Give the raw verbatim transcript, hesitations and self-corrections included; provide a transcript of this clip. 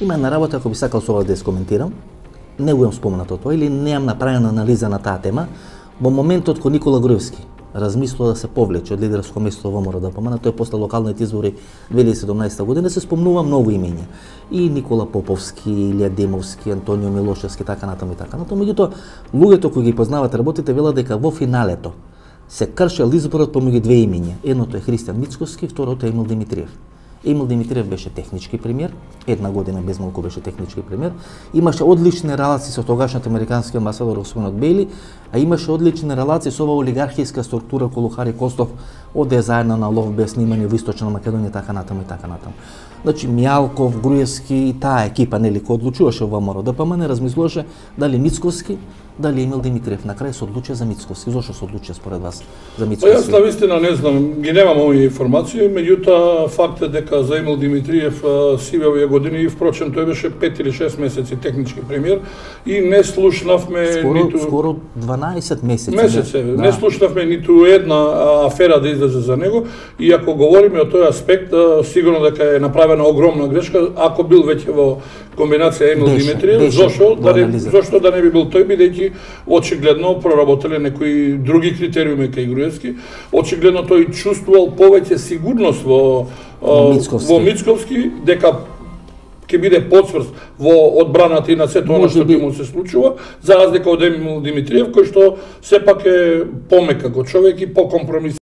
Има една работа, ако би сакал со ова да искоментирам, не го имам споменато тоа или неам направена анализа на таа тема, во моментот кога Никола Груевски размислува да се повлече од лидерско место во ВМРДПМН, тој после локалните избори две илјади и седумнаесета година се спомнува многу имења. И Никола Поповски, Илија Демовски, Антонио Милошевски, така натаму и така натаму. Меѓутоа, луѓето кои ги познават работите велат дека во финалето се кршел изборот помеѓу две имења. Едното е Христијан Мицкоски, второто е Емил Димитриев. Емил Димитриев беше технички премиер, една година без малку беше технички премиер, имаше одлични релации со тогашниот американски амбасадор господинот Бейли, а имаше одлични релации со оваа олигархиска структура околу Хари Костов, оде заедно на лов без снимање во Источна Македонија, така натаму и така натаму. Значи Мијалков, Груевски и таа екипа нели кој одлучуваше во ВМРДПМН размислуваше дали Мицкоски, дали Емил Димитриев. На крај се одлучи за Мицкоски. Зошто се одлучи според вас за Мицкоски? Јас навистина не знам, ги немам овие информации, меѓутоа фактот дека за Емил Димитриев сиве овие години и впрочем тој беше пет или шест месеци технички премиер и не слушнавме скоро, ниту скоро дванаесет месеци. Месеци, да. Не слушнавме ниту една афера да излезе за него и ако говориме од тој аспект, сигурно дека е направена огромна грешка ако бил веќе во комбинација Емил беше, Димитриев, беше, зошто да не зошто да не би бил тој бидејќи очигледно проработеле некои други критериуми кај Груевски, очигледно тој чувствувал повеќе сигурност во во Мицковски, во Мицковски дека ќе биде подсврст во одбраната и на сето она што би му се случува, за разлика од Емил Димитриев, кој што сепак е помек како човек и покомпромисен.